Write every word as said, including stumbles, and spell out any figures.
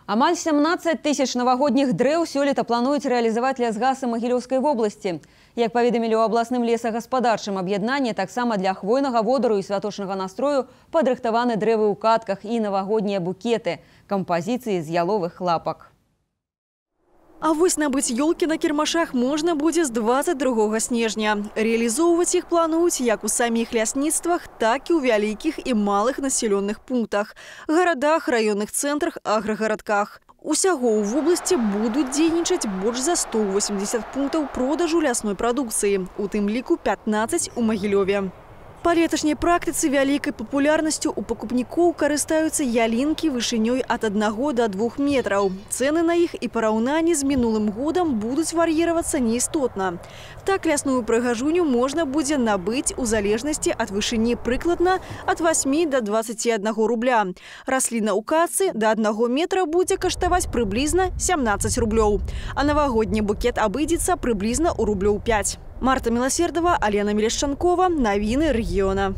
Амаль сямнаццаць тысяч навагодніх дрэў сёлета плануюць рэалізаваць лясгасы Магілёўскай вобласці. Як паведамілі ў абласным лесагаспадарчым аб'яднанні, таксама для хвойнага водару і святочнага настрою падрыхтаваны дрэвы ў катках і навагоднія букеты, кампазіцыі з яловых лапак. А вось набыць ёлкі на кірмашах можна будзе з дваццаць другога снежня. Реалізоўваць іх плануюць як у саміх лясніцтвах, так і ў вялікіх і малых населенных пунктах, гарадах, раённых цэнтрах, аграгарадках. Усяго ў вобласці будуць дзейнічаць больш за сто восемьдесят пунктаў продажу лясной прадукцыі, у тым ліку пятнаццаць у Магілёве. Па леташняй практыцы вялікай папулярнасцю у пакупнікоў карыстаюцца ялінкі вышынёй ад аднаго да двух метраў. Цэны на іх і параўнанні з мінулым годам будуць вар'іравацца неістотна. Так лясную прыгажуню можна будзе набыць у залежнасці ад вышыні прыкладна ад васьмі да дваццаці аднаго рубля. Расліна ў кацы да аднаго метра будзе каштаваць прыблізна сямнаццаць рублёў. А навагодні букет абыдзецца прыблізна ў рублёў пяць. Марта Милосердова, Алена Мелешчанкова. Новины региона.